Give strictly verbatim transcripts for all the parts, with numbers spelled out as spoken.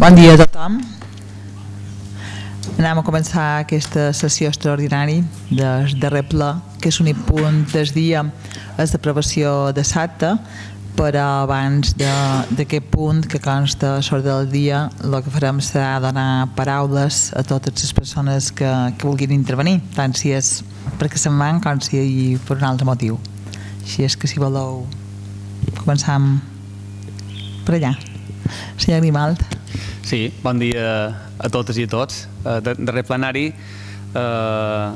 Bon dia a tothom. Anem a començar aquesta sessió extraordinària del darrer ple, que és l'únic punt del dia, és d'aprovació de l'acte, però abans d'aquest punt que consta a l'ordre del dia, el que farem serà donar paraules a totes les persones que, que vulguin intervenir, tant si és perquè se'n van com si per un altre motiu. Així és que si voleu començar per allà. Senyor Grimald. Sí, bon dia a totes i a tots. Darrer plenari, eh,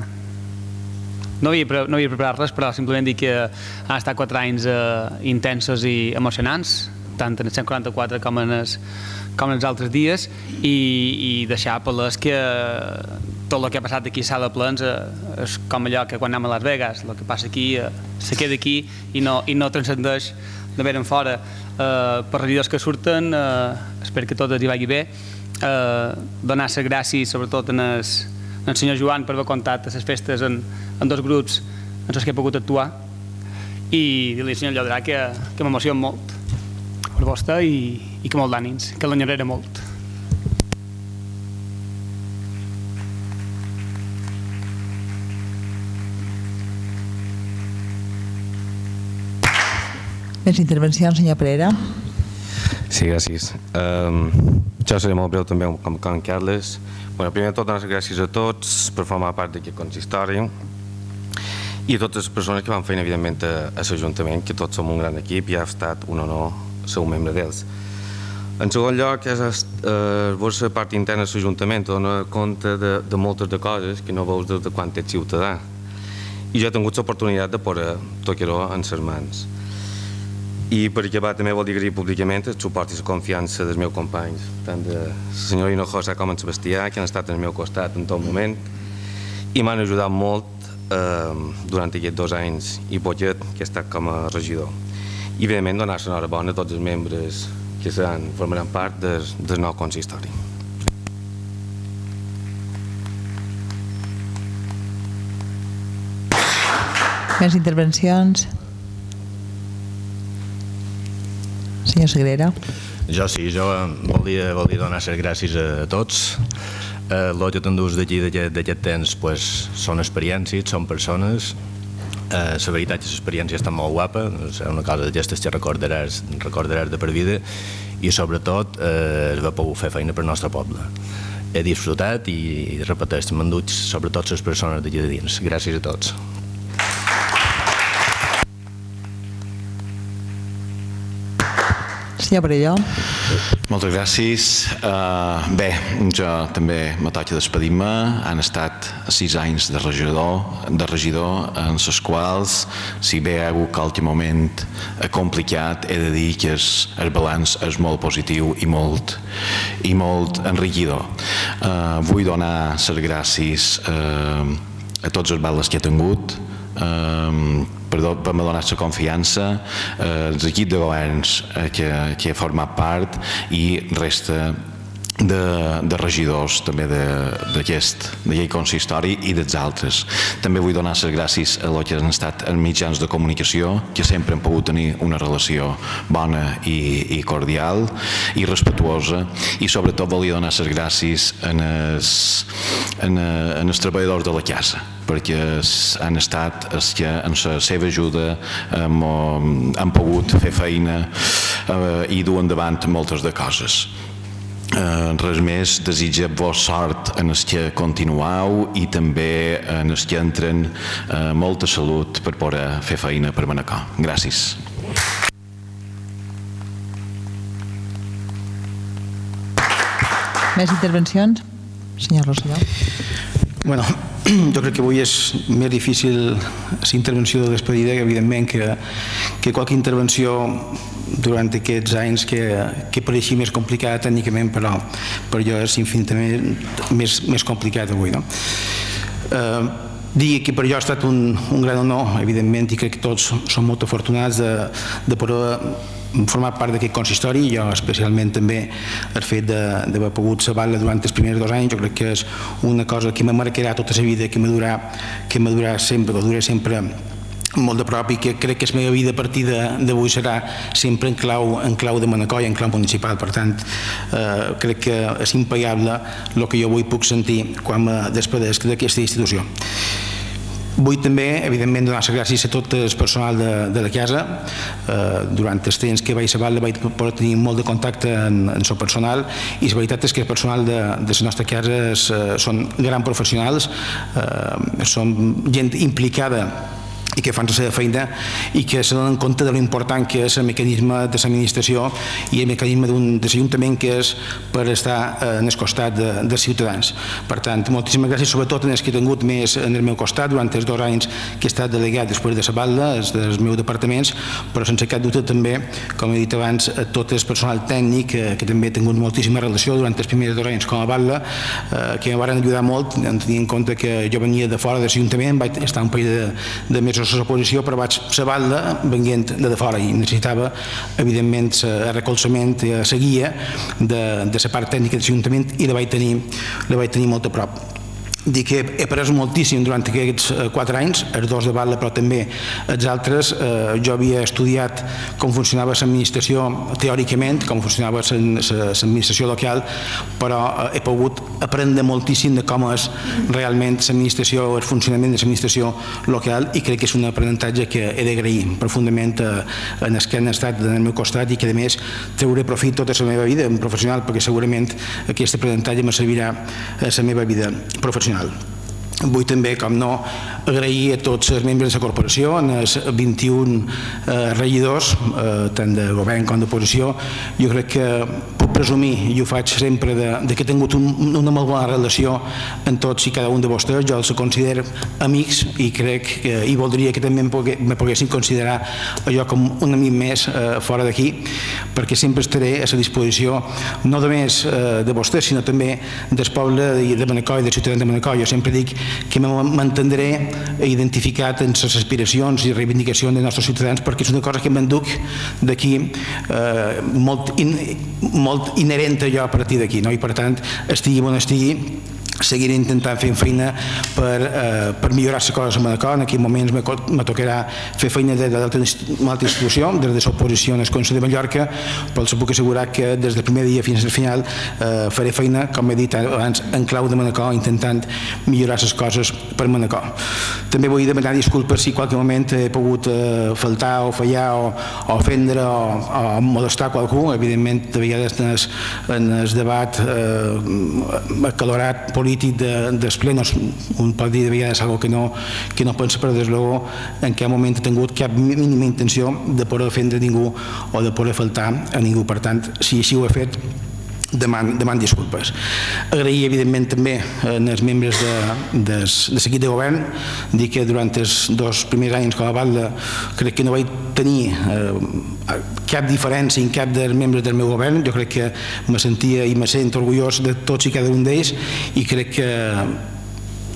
no havia, no havia preparat res, però simplement dir que han estat quatre anys eh, intensos i emocionants, tant en el cent quaranta-quatre com en els, com en els altres dies, i, i deixar palès que tot el que ha passat aquí a sala de plens eh, és com allò que quan anem a Las Vegas, el que passa aquí eh, se queda aquí i no, i no transcendeix de veure en fora. Uh, per regidors que surten, uh, espero que tot els hi vagi bé, uh, donar les gràcies sobretot en el, en el senyor Joan per haver comptat a les festes en, en dos grups en els que he pogut actuar, i dir-li al senyor Llodrà que, que m'emociona molt per vostè i, i que molt d'ànims, que l'enyoraré molt. Més intervencions, senyor Pereira. Sí, gràcies. Um, jo seré molt breu també com en Carles. Bueno, primer de tot, donar les gràcies a tots per formar part d'aquest consistori i a totes les persones que van feina, evidentment, a, a l'Ajuntament, que tots som un gran equip i ha estat un honor ser un membre d'ells. En segon lloc, és eh, la part interna de l'Ajuntament, dona compte de, de moltes de coses que no veus des de quan ets ciutadà. I jo he tingut l'oportunitat de posar tocar-ho en les mans. I per acabar també vol dir agrair públicament el suport i la confiança dels meus companys, tant de la senyora Hinojosa com en Sebastià, que han estat al meu costat en tot moment i m'han ajudat molt eh, durant aquests dos anys i poquet que he estat com a regidor. I evidentment donar l'enhorabona a tots els membres que seran, formaran part del, del nou consistori. Més intervencions? Senyor Sagrera. Jo sí, jo volia, volia donar les gràcies a tots. Eh, el que t'endús d'aquí d'aquest temps pues, són experiències, són persones. Eh, la veritat és que l'experiència està molt guapa, és una cosa d'aquestes que recordaràs, recordaràs de per vida, i sobretot eh, es va poder fer feina per al nostre poble. He disfrutat i, repeteix, m'han dut sobretot les persones d'aquí de dins. Gràcies a tots. Senyor Perelló. Moltes gràcies. Uh, bé, jo també me toca despedir-me. Han estat sis anys de regidor, de regidor en els quals, si bé hi ha hagut qualque moment complicat, he de dir que el, el balanç és molt positiu i molt, i molt enriquidor. Uh, vull donar les gràcies uh, a tots els batlles que he tingut, uh, per m'ha donat la confiança, eh, l'equip de governs eh, que, que he format part i resta de, de regidors també d'aquest consistori i dels altres. També vull donar les gràcies a els que han estat els mitjans de comunicació, que sempre han pogut tenir una relació bona i, i cordial i respectuosa, i sobretot volia donar les gràcies en els, en, en els treballadors de la casa, perquè han estat els que amb la seva ajuda hem, hem pogut fer feina eh, i dur endavant moltes de coses. Eh, res més, desitjar-vos sort en els que continueu i també en els que entren eh, molta salut per poder fer feina per Manacor. Gràcies. Més intervencions? Senyor Rosselló. Bueno, jo crec que avui és més difícil la intervenció de despedida, que evidentment que, que qualque intervenció durant aquests anys que, que pareixia més complicada tècnicament, però per jo és infinitament més, més complicat avui. No? Eh, dir que per jo ha estat un, un gran honor, evidentment, i crec que tots som molt afortunats de, de poder formar part d'aquest consistori, i jo especialment també el fet d'haver pogut saber-la durant els primers dos anys. Jo crec que és una cosa que me marcarà tota la vida, que me durarà, que me durarà sempre, que durarà sempre molt de prop i que crec que la meva vida a partir d'avui serà sempre en clau, en clau de Manacor i en clau municipal. Per tant, eh, crec que és impagable el que jo avui puc sentir quan me despedesc d'aquesta institució. Vull també, evidentment, donar les gràcies a tot el personal de, de la casa. Eh, durant els temps que vaig a Batlle vaig poder tenir molt de contacte en, en el personal i la veritat és que el personal de, de les nostres cases eh, són grans professionals, eh, són gent implicada i que fan la seva feina i que se donen compte de l'important que és el mecanisme de l'administració i el mecanisme d'un Ajuntament que és per estar en el costat de, dels ciutadans. Per tant, moltíssimes gràcies, sobretot en els que he tingut més en el meu costat durant els dos anys que he estat delegat després de la Batlle, dels meus departaments, però sense cap dubte també, com he dit abans, a tot el personal tècnic que, que també he tingut moltíssima relació durant els primers dos anys com a Batlle, eh, que em van ajudar molt, tenint en compte que jo venia de fora de l'Ajuntament, vaig estar un parell de, de mesos a l'oposició, però vaig a Batlle venint de fora i necessitava, evidentment, el recolzament, la guia de la part tècnica de l'Ajuntament i la vaig tenir, la vaig tenir molt a prop. Dic que he après moltíssim durant aquests quatre anys, els dos de Batlle, però també els altres. Jo havia estudiat com funcionava l'administració teòricament, com funcionava l'administració local, però he pogut aprendre moltíssim de com és realment l'administració, el funcionament de l'administració local, i crec que és un aprenentatge que he d'agrair profundament en els que han estat en el meu costat i que, a més, treuré profit tota la meva vida professional, perquè segurament aquest aprenentatge me servirà a la meva vida professional. Vull també, com no, agrair a tots els membres de la corporació, els vint-i-un regidors, tant de govern com d'oposició. Jo crec que puc presumir, i ho faig sempre, que he tingut una molt bona relació amb tots i cada un de vostès. Jo els considero amics i crec que i voldria que també me poguessin considerar allò com un amic més fora d'aquí, perquè sempre estaré a la disposició no només de vostès, sinó també del poble de Manacor i dels ciutadans de Manacor. Jo sempre dic que m'entendré identificat en les aspiracions i reivindicacions dels nostres ciutadans, perquè és una cosa que m'enduc d'aquí molt inherent a jo a partir d'aquí, i per tant, estigui on estigui, seguiré intentant fer feina per millorar les coses a Manacor. En aquells moments me tocarà fer feina des d'altra institució, des de l'oposició en el Consell de Mallorca, però els puc assegurar que des del primer dia fins al final faré feina, com he dit abans, en clau de Manacor, intentant millorar les coses per Manacor. També vull demanar disculpes si en qualque moment he pogut faltar o fallar o ofendre o molestar qualcú. Evidentment, de vegades en el debat acalorat polític dels plenos un pot dir de vegades algo que no pensa, però des luego en cap moment he tingut cap mínima intenció de poder ofendre ningú o de poder faltar a ningú. Per tant, si així ho he fet, deman disculpes. Agrair, evidentment, també als membres de l'equip de govern. Dic que durant els dos primers anys com a Batlle crec que no vaig tenir cap diferència en cap dels membres del meu govern. Jo crec que me sentia i me sent orgullós de tots i cada un d'ells, i crec que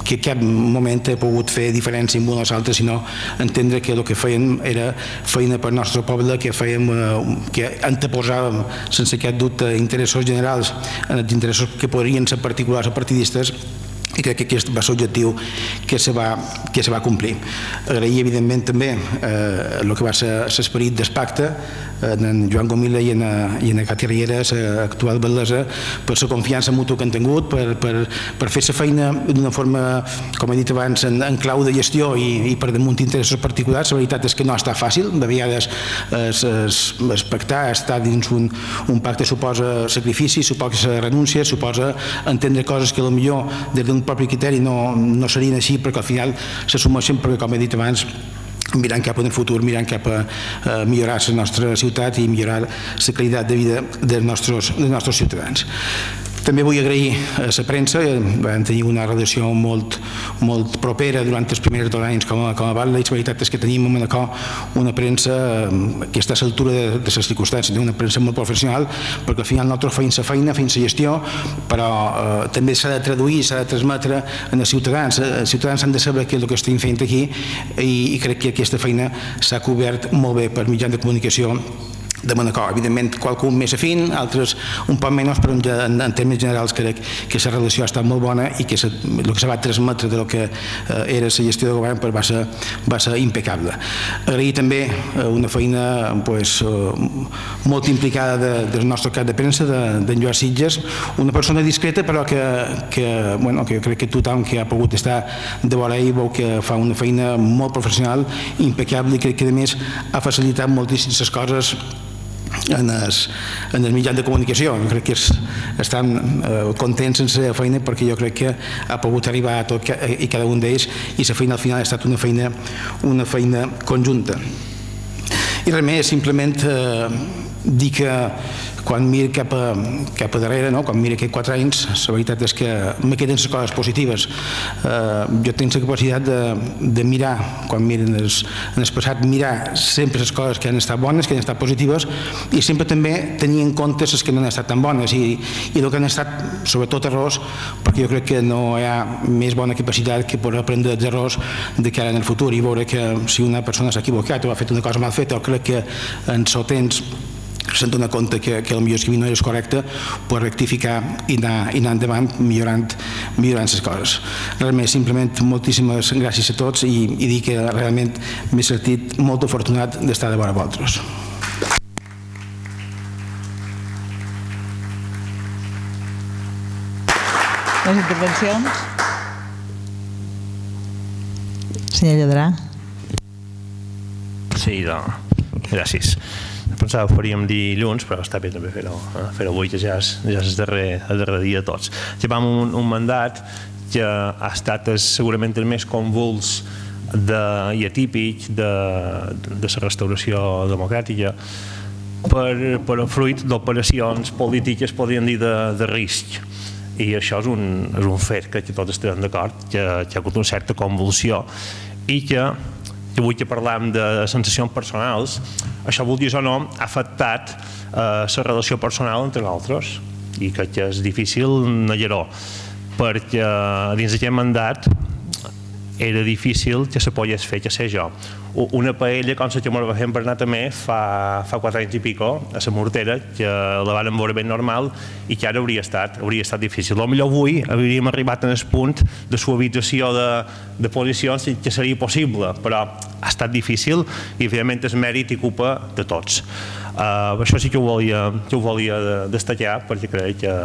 que cap moment he pogut fer diferència amb un o l'altre, sinó entendre que el que fèiem era feina per al nostre poble, que fèiem, que anteposàvem sense cap dubte interessos generals en els interessos que podrien ser particulars o partidistes, i crec que aquest va ser l'objectiu que se va complir. Agrair, evidentment, també el que va ser l'esperit del pacte en Joan Gomila i en Cati Riera, l'actual batllessa, per la confiança mútua que han tingut, per fer la feina d'una forma, com he dit abans, en clau de gestió i per damunt d'interessos particulars. La veritat és que no ha estat fàcil. De vegades el pactar, estar dins un pacte suposa sacrifici, suposa renúncia, suposa entendre coses que potser des d'un propi criteri no serien així, perquè al final s'assumeixen, perquè, com he dit abans, mirant cap en el futur, mirant cap a millorar la nostra ciutat i millorar la qualitat de vida dels nostres ciutadans. També vull agrair a la premsa. Vam tenir una relació molt propera durant els primers dos anys com a Batlle, i la veritat és que tenim a Manacor una premsa que està a l'altura de les circumstàncies, una premsa molt professional, perquè al final nosaltres feim la feina, feim la gestió, però també s'ha de traduir, s'ha de transmetre als ciutadans. Els ciutadans han de saber què és el que estem fent aquí, i crec que aquesta feina s'ha cobert molt bé per mitjans de comunicació de bon acord. Evidentment, qualcun més afín, altres un poc menys, però en, en termes generals crec que la relació ha estat molt bona i que se, el que se va transmetre del que eh, era la gestió de govern pues, va, ser, va ser impecable. Agrair també eh, una feina pues, eh, molt implicada de, del nostre cap de premsa, d'en de, Joan Sitges, una persona discreta però que, que, bueno, que jo crec que tothom que ha pogut estar de vora ell veu que fa una feina molt professional, impecable, i crec que a més ha facilitat moltíssimes coses en els, en els mitjans de comunicació. Jo crec que es, estan eh, contents en la seva feina perquè jo crec que ha pogut arribar a tot i cada un d'ells i la feina al final ha estat una feina, una feina conjunta. I res més, simplement eh, dir que quan miro cap a, cap a darrere, no? Quan miro aquests quatre anys, la veritat és que me queden les coses positives. Eh, jo tinc la capacitat de, de mirar, quan miro en el, en el passat, mirar sempre les coses que han estat bones, que han estat positives, i sempre també tenir en compte les que no han estat tan bones i, i el que han estat, sobretot errors, perquè jo crec que no hi ha més bona capacitat que poder aprendre els errors de cara en el futur i veure que si una persona s'ha equivocat o ha fet una cosa mal feta o crec que en el temps se'n dona compte que, que el millor escrivir no és correcte, pot rectificar i anar, i anar endavant millorant, millorant les coses. Res més, simplement moltíssimes gràcies a tots i, i dir que realment m'he sentit molt afortunat d'estar de vora vosaltres. Les intervencions? Senyor Lladrà. Sí, no. Gràcies. Pensava que ho faríem dilluns, però està bé també fer-ho eh? fer-ho avui, que ja és, ja és el, darrer, el darrer dia de tots. Llevam un, un mandat que ha estat segurament el més convuls de, i atípic de, de la restauració democràtica per, per fruit d'operacions polítiques, podríem dir, de, de risc. I això és un, és un fet que tots estem d'acord, que, que hi ha hagut una certa convulsió i que que avui que parlem de sensacions personals, això, vulguis o no, ha afectat la eh, relació personal entre nosaltres i crec que és difícil negar-ho, perquè dins d'aquest mandat era difícil que se pogués fer, que sé jo, una paella com la que m'ho va fer en Bernat també fa, fa quatre anys i pico, a la Mortera, que la vàrem veure ben normal i que ara hauria estat, hauria estat difícil. Potser avui hauríem arribat en el punt de suavització de, de posicions que seria possible, però ha estat difícil i evidentment el mèrit i culpa de tots. Uh, això sí que ho volia, que ho volia destacar perquè crec que,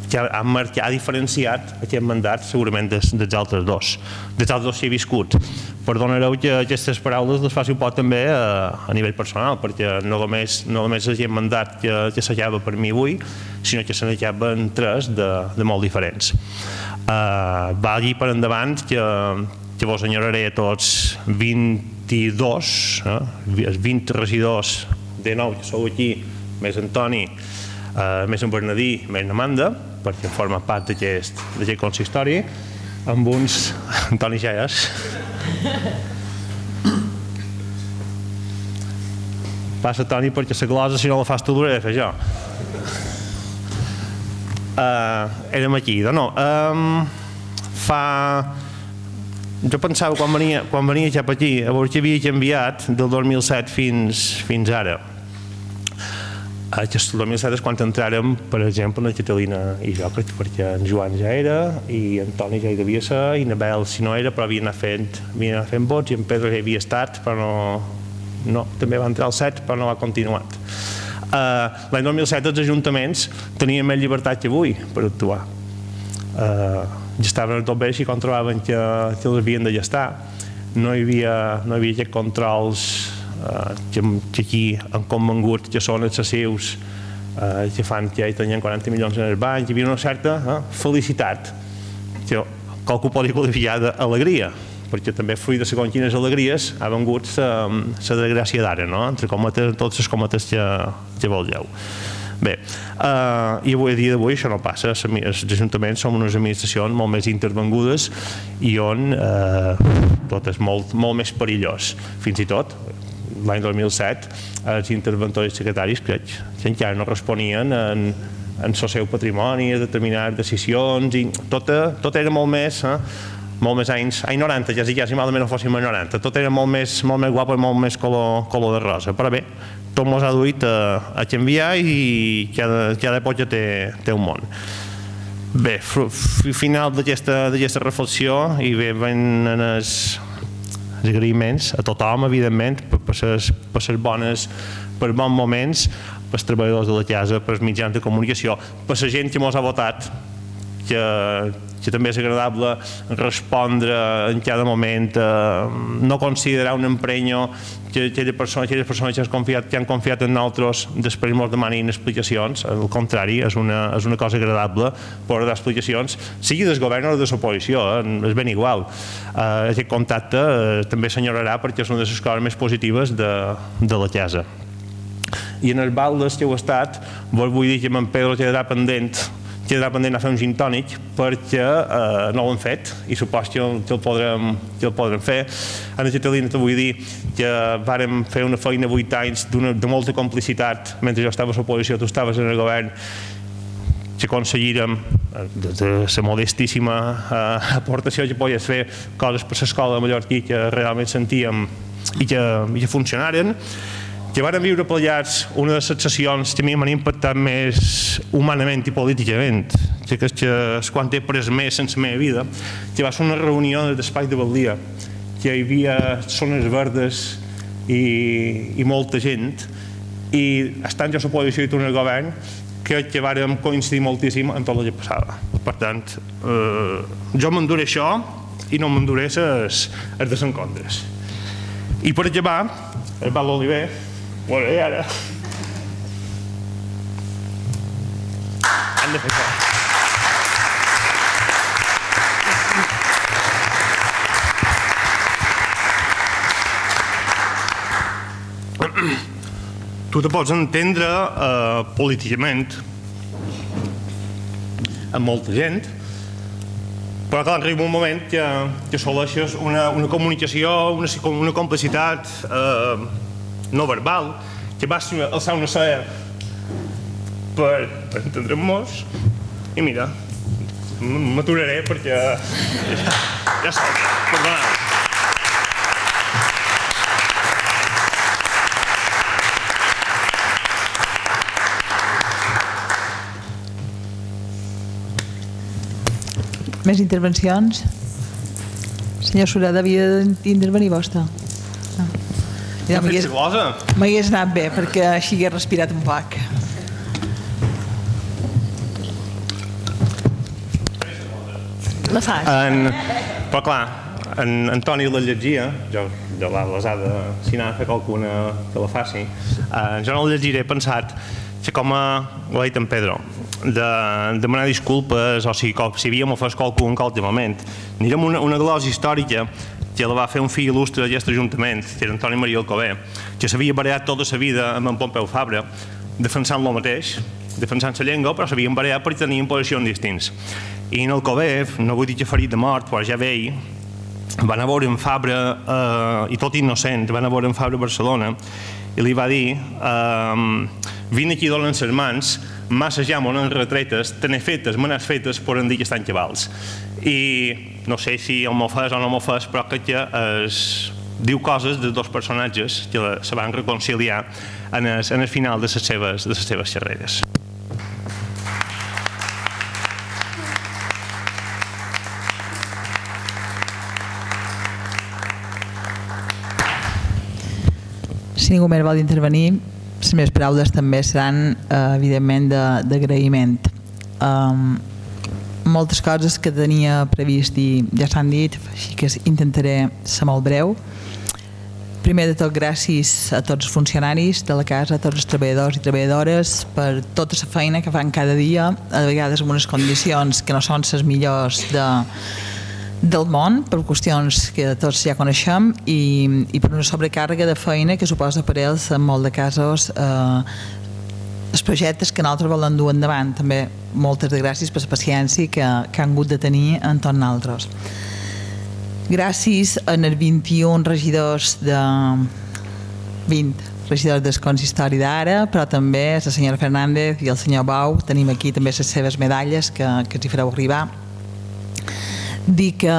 que ha, marcat, ha diferenciat aquest mandat segurament des, dels altres dos dels altres dos que he viscut. Perdonareu que aquestes paraules les faci un poc també a, a nivell personal, perquè no només, no només és aquest mandat que, que s'acaba per mi avui, sinó que se n'acaben tres de, de molt diferents. Uh, va allí per endavant que, que vos enyoraré a tots vint-i-dos, eh, vint regidors de nou, que sou aquí, més Antoni, eh, més en Bernadí, més Amanda, perquè forma part d'aquest consistori, amb uns... Antoni Xeas. Passa, Toni, perquè la glosa, si no la fas tu, l'hauré de fer jo. Uh, érem aquí, de nou. Um, fa... Jo pensava, quan venia, quan venia cap aquí, a veure què havia canviat del dos mil set fins, fins ara. El dos mil set és quan entràrem, per exemple, la Catalina i jo, perquè en Joan ja era, i en Toni ja hi devia ser, i Nabel, si no era, però havia anat fent, havia anat fent vots, i en Pedro ja havia estat, però no, no, també va entrar al set, però no ha continuat. Uh, L'any dos mil set els ajuntaments tenien més llibertat que avui per actuar. Uh, ja estaven tot bé si controlaven que, que els havien de gestar. No hi havia, no hi havia aquests controls Uh, que, que aquí han convengut que són excessius, uh, que fan que hi tenien quaranta milions en el banc, hi havia una certa uh, felicitat, que qualcú podria qualificar d'alegria, perquè també fruit de segons quines alegries ha vengut la desgràcia d'ara, no? Entre cometes, totes les cometes que, que vulgueu. Bé, uh, i avui, a dia d'avui això no passa. Els ajuntaments són unes administracions molt més intervengudes i on uh, tot és molt, molt més perillós. Fins i tot, l'any dos mil set, els interventors secretaris crec que encara no responien en, en el seu patrimoni, a determinades decisions, i tot, tot era molt més, eh, molt més anys, anys noranta, ja si, ja si malament no fóssim anys noranta, tot era molt més, molt més guapo i molt més color, color de rosa, però bé, tot mos ha duit a, a canviar i cada, cada època té, té un món. Bé, final d'aquesta reflexió i bé, ven els agraïments a tothom, evidentment, per les bones, per bons moments, pels treballadors de la casa, pels mitjans de comunicació, per la gent que mos ha votat, que, que també és agradable respondre en cada moment, eh, no considerar un emprenyo que aquelles persones, aquelles persones que, han confiat, que han confiat en nosaltres després mos demanin explicacions. Al contrari, és una, és una cosa agradable poder dar explicacions, sigui del govern o de l'oposició, eh, és ben igual. Eh, aquest contacte eh, també s'enyorarà perquè és una de les coses més positives de, de la casa. I en els baldes que heu estat, vos vull dir que en Pedro quedarà pendent quedarà pendent a fer un gin tònic perquè eh, no ho hem fet i supos que el, que el, podrem, que el podrem fer. Anna Catalina, te vull dir que vàrem fer una feina vuit anys de molta complicitat mentre jo estava a l'oposició, tu estaves en el govern, que aconseguirem de la modestíssima eh, aportació que podies fer coses per l'escola de Mallorquí que realment sentíem i que, i que funcionaren, que vàrem viure plegats una de les sessions que a mi m'han impactat més humanament i políticament, que és que és quan he pres més en la meva vida, que va ser una reunió d'Espai de Baldia, que hi havia zones verdes i, i molta gent, i estant jo a l'oposició i tu en el govern, crec que vàrem coincidir moltíssim en tot el que passava. Per tant, eh, jo m'enduré això i no m'enduré els desencontres. I per acabar, el Val d'Oliver, bueno, i ara han de fer això. Tu te pots entendre eh, políticament amb molta gent, però clar, arriba un moment que, que assoleixes una, una comunicació, una, una complicitat eh, no verbal, que vas alçar una cera per, per entendre'm-nos, i mira, m'aturaré perquè ja, ja soc, perdoneu. Més intervencions? Senyor Sureda, havia d'intervenir vostè. Ja m'hagués anat bé, perquè així hagués respirat un poc. La fas? En, però clar, en Antoni la llegia, jo, jo les ha de, si n'ha de fer qualcuna que la faci, eh, jo no la llegiré, he pensat que com a, ho ha dit en Pedro, de demanar disculpes o si, si havíem ofès qualcú en qualsevol moment. Anirem una, una glosa històrica que la va fer un fill il·lustre d'aquest Ajuntament, que era Antoni Maria Alcover, que s'havia barallat tota la vida amb en Pompeu Fabra, defensant lo mateix, defensant la llengua, però s'havien barallat perquè tenien posicions distints. I en Alcover, no vull dir que ferit de mort, però ja vell, van a veure en Fabra, eh, i tot innocent, van a veure en Fabra a Barcelona, i li va dir, eh, vine aquí donen les mans, massa ja m'ho han retretes, te n'he fetes, me n'has fetes, poden dir que estan cabals. I no sé si el m'ho fas o no m'ho fas, però crec que es diu coses de dos personatges que se van reconciliar en el, en el final de les seves, de les seves xerreres. Si ningú més vol intervenir, les meves paraules també seran, eh, evidentment, d'agraïment. Um, moltes coses que tenia previst i ja s'han dit, així que intentaré ser molt breu. Primer de tot, gràcies a tots els funcionaris de la casa, a tots els treballadors i treballadores per tota la feina que fan cada dia, a vegades en unes condicions que no són les millors de, del món, per qüestions que tots ja coneixem, i, i per una sobrecàrrega de feina que suposa per ells en molt de casos eh, els projectes que nosaltres volen dur endavant. També moltes de gràcies per la paciència que, que han hagut de tenir en tots nosaltres. Gràcies als vint-i-un regidors de vint regidors del consistori d'ara, però també a la senyora Fernández i el senyor Bau. Tenim aquí també les seves medalles que, que els hi fareu arribar. Dir que,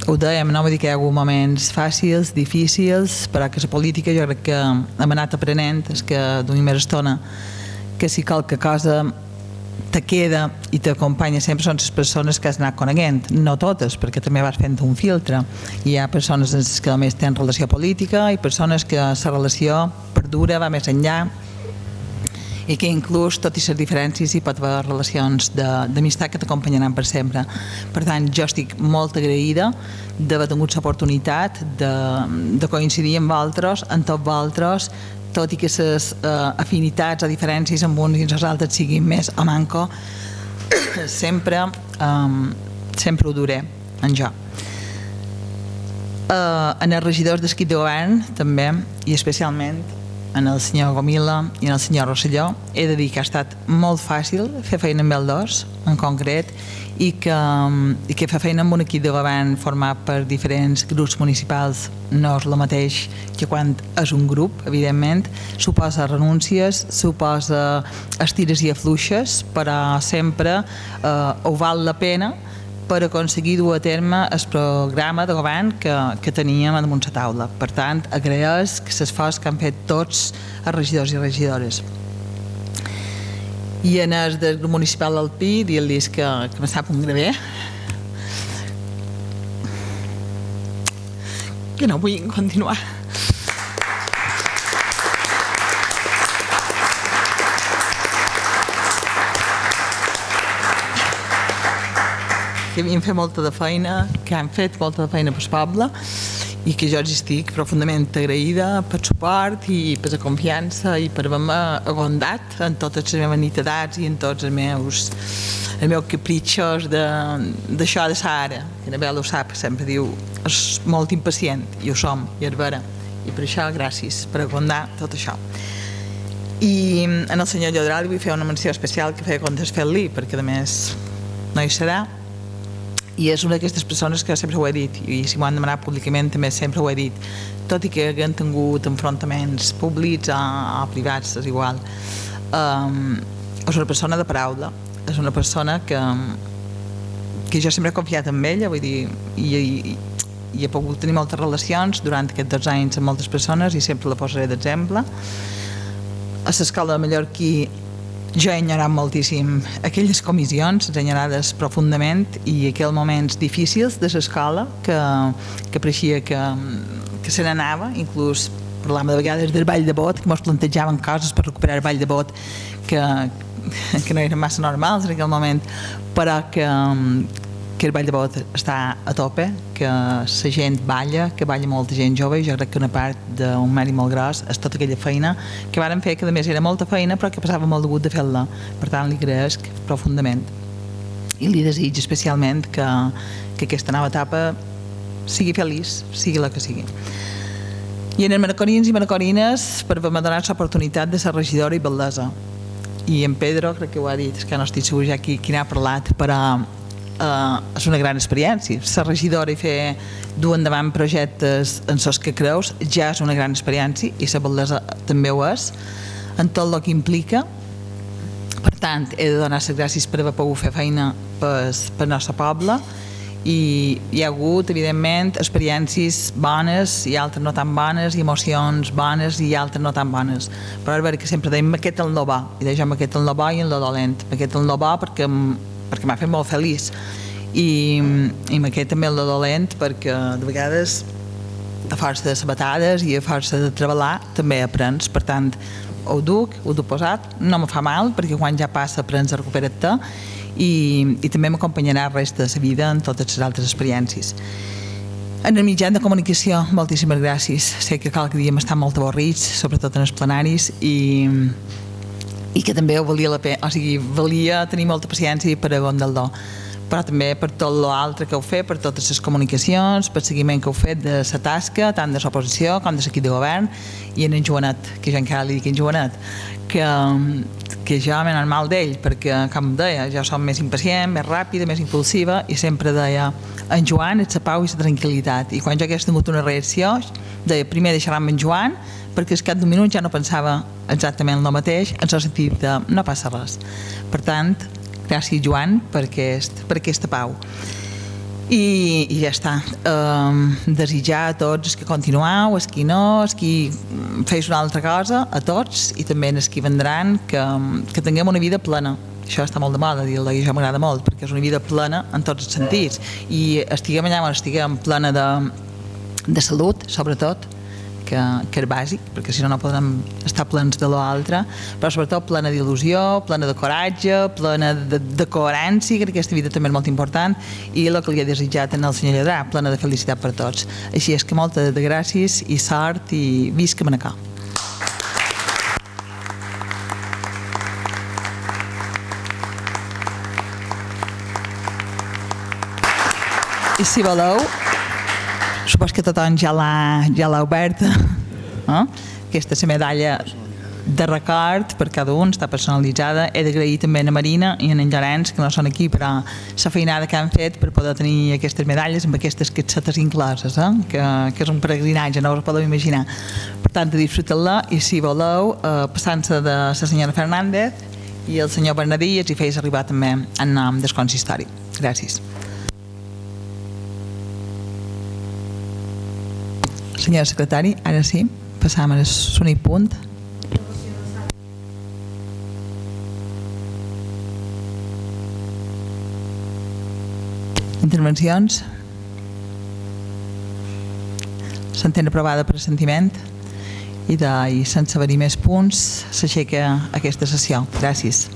ho dèiem, no? Vull dir que hi ha hagut moments fàcils, difícils, però que la política jo crec que hem anat aprenent, és que duim més estona, que si qualque cosa te queda i t'acompanya sempre són les persones que has anat coneguent, no totes, perquè també vas fent un filtre. Hi ha persones que només tenen relació política i persones que la relació perdura, va més enllà, i que inclús, tot i les diferències, hi pot haver relacions d'amistat que t'acompanyaran per sempre. Per tant, jo estic molt agraïda d'haver tingut l'oportunitat de, de coincidir amb altres, amb tots vosaltres, tot i que les uh, afinitats o diferències amb uns i els altres siguin més o manco, sempre, um, sempre ho duré en jo. Uh, en els regidors d'equip de govern, també, i especialment en el senyor Gomila i en el senyor Rosselló, he de dir que ha estat molt fàcil fer feina amb els dos, en concret, i que, i que fer feina amb un equip de govern format per diferents grups municipals no és el mateix que quan és un grup, evidentment, suposa renúncies, suposa estires i afluixes, però sempre eh, ho val la pena per aconseguir dur a terme el programa de govern que, que teníem damunt la taula. Per tant, agraeix l'esforç que han fet tots els regidors i regidores. I en el del grup municipal del Pi, dir-los que, que me sap un graver, que no vull continuar. Que havien fet molta de feina, que han fet molta de feina per el poble i que jo els estic profundament agraïda per suport i per la confiança i per haver-me agondat en totes les meves nitidats i en tots els meus, els meus capritxos d'això de sa ara, que Anabel ho sap, sempre diu, és molt impacient, i ho som, i és vera, i per això gràcies per agondar tot això. I en el senyor Llodral vull fer una menció especial que feia comptes fer-li, perquè a més no hi serà, i és una d'aquestes persones que sempre ho he dit, i si m'ho han demanat públicament també sempre ho he dit, tot i que haguem tingut enfrontaments públics o, o privats, és igual. Um, és una persona de paraula, és una persona que, que jo sempre he confiat en ella, vull dir, i, i, i he pogut tenir moltes relacions durant aquests dos anys amb moltes persones i sempre la posaré d'exemple. A l'escola de Mallorquí jo he enyorat moltíssim aquelles comissions, enyorades profundament, i aquells moments difícils de l'escola que, que pareixia que, que se n'anava, inclús parlàvem de vegades del ball de bot, que ens plantejaven coses per recuperar el ball de bot que, que no eren massa normals en aquell moment, però que, que el ball de bot està a tope, que la gent balla, que balla molta gent jove, i jo crec que una part d'un mèrit molt gros és tota aquella feina que vàrem fer, que a més era molta feina però que passava molt de gust de fer-la. Per tant, li agraeixo profundament i li desitjo especialment que, que aquesta nova etapa sigui feliç, sigui la que sigui. I en els manacorins i manacorines, per haver-me donat l'oportunitat de ser regidora i bellesa. I en Pedro, crec que ho ha dit, és que no estic segur ja qui, qui n'ha parlat, però Uh, és una gran experiència. Ser regidora i fer dur endavant projectes en els que creus ja és una gran experiència, i la bellesa també ho és en tot el que implica. Per tant, he de donar les gràcies per haver pogut fer feina per el nostre poble, i hi ha hagut, evidentment, experiències bones i altres no tan bones, i emocions bones i altres no tan bones, però és veritat que sempre deim aquest el no bo, i deixem aquest el no bo i el no dolent. Aquest el no bo perquè perquè m'ha fet molt feliç, i, i m'aquest també el dolent perquè de vegades a força de sabatades i a força de treballar també aprens. Per tant, ho duc, ho duc posat, no me fa mal perquè quan ja passa aprens a recuperar-te, i, i també m'acompanyarà el resta de la vida en totes les altres experiències. En el mitjà de comunicació, moltíssimes gràcies. Sé que cada dia m'estan molt avorrits, sobretot en els plenaris, i i que també ho valia la pena, o sigui, valia tenir molta paciència per a Gondaldó, però també per tot l'altre que heu fet, per totes les comunicacions, per el seguiment que heu fet de la tasca, tant de l'oposició com de l'equip de govern, i en en Joanet, que jo encara li dic en Joanet, que, que jo m'he anat mal d'ell, perquè, com deia, jo som més impacient, més ràpida, més impulsiva, i sempre deia, en Joan és la pau i la tranquil·litat, i quan jo hagués tingut una reacció, deia, primer deixarà amb en Joan, perquè al cap d'un minut ja no pensava exactament el mateix, en el sentit de no passa res. Per tant, gràcies Joan per, aquest, per aquesta pau. I, i ja està. Um, desitjar a tots que continueu, els qui no, els qui feis una altra cosa, a tots, i també els qui vendran, que, que tinguem una vida plena. Això està molt de moda dir-ho, i això m'agrada molt, perquè és una vida plena en tots els sentits. I estiguem allà on estiguem plena de, de salut, sobretot, que, que és bàsic, perquè si no no podrem estar plens de l'altre, però sobretot plena d'il·lusió, plena de coratge, plena de, de coherència, que aquesta vida també és molt important, i el que li he desitjat al senyor Lladrà, plena de felicitat per tots. Així és que moltes de gràcies i sort i visca Manacor. I si voleu, supos que tothom ja l'ha ja l'ha oberta, eh? Aquesta és la medalla de record per cada un, està personalitzada. He d'agrair també a la Marina i a en Llorenç, que no són aquí, però la feinada que han fet per poder tenir aquestes medalles amb aquestes cassetes incloses, eh? que, que és un peregrinatge, no us ho podeu imaginar. Per tant, disfruteu-la, i si voleu, eh, passant-se de la senyora Fernández i el senyor Bernadí, els hi feis arribar també en nom del consistori. Gràcies. Senyor secretari, ara sí, passam al únic punt. Intervencions? S'entén aprovada per assentiment i, de, i sense haver-hi més punts s'aixeca aquesta sessió. Gràcies.